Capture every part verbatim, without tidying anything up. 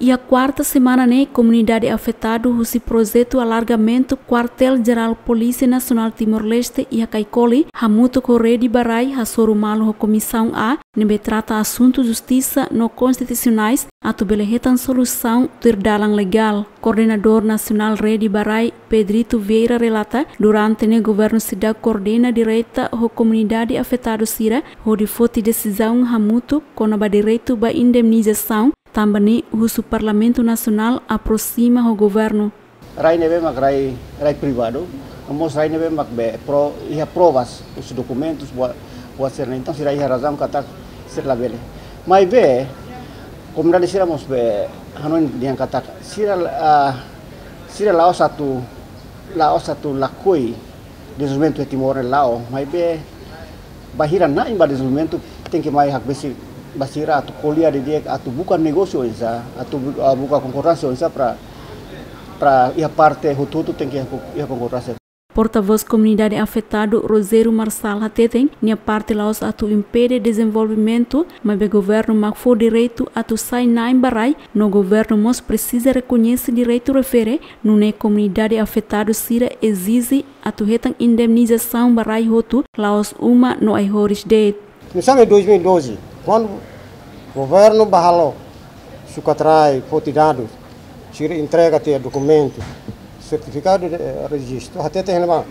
Iha kuarta semana ne'e, komunidade afetadu husi projetu alargamentu Kuartél Jerál Polísia Nasionál Timor-Leste iha Caicoli, hamutuk ho Rede ba Rai, hasoru malu ho Komisaun A, ne'ebé trata asuntu justisa no konstitusionais, atu bele hetan solusaun tuir dalan legál. Koordenadór Nasionál Rede ba Rai, Pedrito Vieira, relata, durante ne'e governu seidauk koordena direta ho komunidade afetadu sira, hodi foti desizaun hamutuk kona-ba direitu ba indemnizasaun, tanba ne'e husu Parlamentu Nasionál aproxima ho governu. Rai ne'ebé mak rai, rai privadu, no mós rai ne'ebé mak be pro, iha provas, husi dokumentus, buat, buat sira-ne'e. Entaun sira iha razaun katak sira labele. Maibé, komunidade sira mós be hanoin dehan katak sira, ah, sira la'ós atu, la'ós atu lakohi dezenvolvimentu iha Timor ne'e, la'o, maibé bainhira na'in ba dezenvolvimentu tenke mai hakbesik ba sira atu ko'alia didi'ak, atu buka negósiu oinsá, atu bu-, ah, buka konkordánsia oinsá para, para iha parte hotu-hotu tenke iha ko-, iha konkordánsia. Portavós komunidade afetadu, Rogério Marçal, hateten, nia parte la'ós atu impede dezenvolvimentu, maibé governu mak fó direitu atu sai na'in ba rai, no governu mós presiza rekoñese direitu refere, nune'e komunidade afetadu sira ezije atu hetan indemnizasaun ba rai hotu, la'ós uma no ai-horis de'it. Komesa iha dois mil e doze, kuandu governu bá halo sukat rai, foti dadus, sira entrega tiha dokumentu, sertifikadu de, eh, rejistu, hateten iha ne'ebá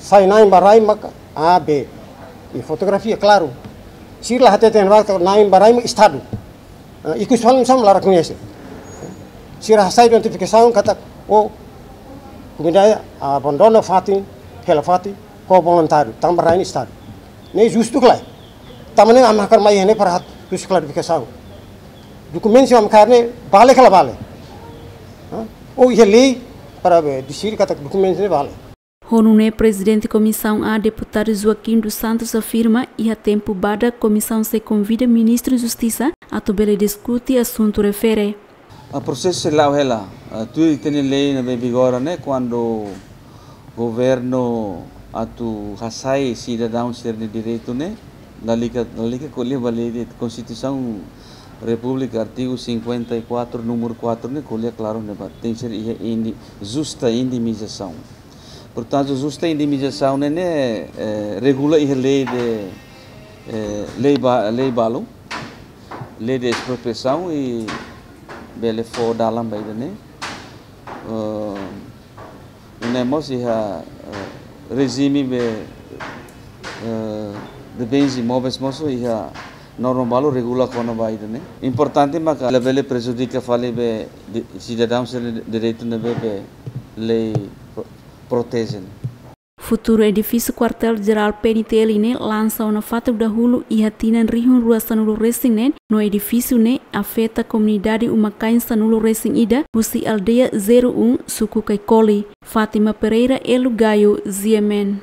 sai na'in ba rai mak A, B. I fotografia klaru. Sira la hateten iha ne'ebá katak na'in ba rai mak Estadu. Eh, ikus fali mós la rekoñese. Sira hasai identifikasaun katak, oh, komunidade abandona fatin, hela fatin, ho voluntáriu, tanba rai ne'e Estadu. Ne'e justu ka lae? Tanba ne'e ami hakarak mai iha ne'e para hatudu klarifikasaun. Dokumentu sira ami hakarak ne'e vale ka la vale? Hã? Ou iha lei para be deside katak dokumentu ne'e vale? Ho nune'e Prezidente Komisaun A, Deputadu Joaquim dos Santos, afirma, iha tempu badak Komisaun sei konvida Ministru Justisa atu bele diskute asuntu refere. Ah, prosesu sei la'o hela, ah, tuir ita-nia lei ne'ebé vigora ne'e, kuandu governu atu hasai sidadaun sira-nia direitu ne'e, lalika, lalika ko'alia ba lei de'it, Konstituisaun Repúblika, artigu cinquenta e quatro, númeru quatro ne'e ko'alia klaru ne'ebá, tenke ser iha indi-, justa indemnizasaun. Portantu, justa indemnizasaun ne'e, ne'e, eh, regula iha lei de, eh, lei ba-, lei balu, lei de espropriasaun i bele fó dalan ba ida-ne'e. Eh, nune'e mós iha, eh, rejime be, eh, de bens imóveis mós iha norma balu regula kona-ba ida-ne'e. Importante maka labele prejudika fali be di-, sidadaun sira-nia direitu ne'ebé be lei pro-, proteje. Futuru edifísiu Kuartél Jerál P N T L ne'e lansa ona fatuk dahuluk iha tinan rihun rua sanulu resin neen, no edifísiu ne'e afeta komunidade uma-kain sanulu resin ida, husi aldeia zero um, suku Caicoli. Fátima Pereira, Elo Gayo, G M N.